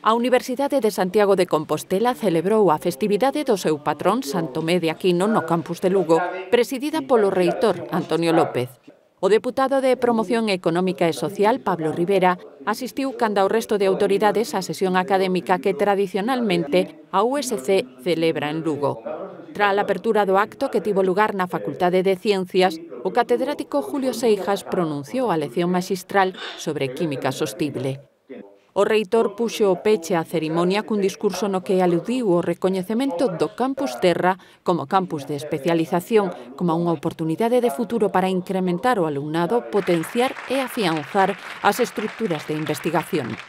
A Universidade de Santiago de Compostela celebrou a festividade do seu patrón San Tomé de Aquino no campus de Lugo, presidida polo reitor Antonio López. O deputado de Promoción Económica e Social, Pablo Rivera, asistiu canda o resto de autoridades á sesión académica que tradicionalmente a USC celebra en Lugo. Tras a apertura do acto que tivo lugar na Facultade de Ciencias, o catedrático Julio Seijas pronunciou a lección maxistral sobre química sostible. O reitor puxo o peche á cerimonia cun discurso no que aludiu ao recoñecemento do Campus Terra como campus de especialización, como unha oportunidade de futuro para incrementar o alumnado, potenciar e afianzar as estruturas de investigación.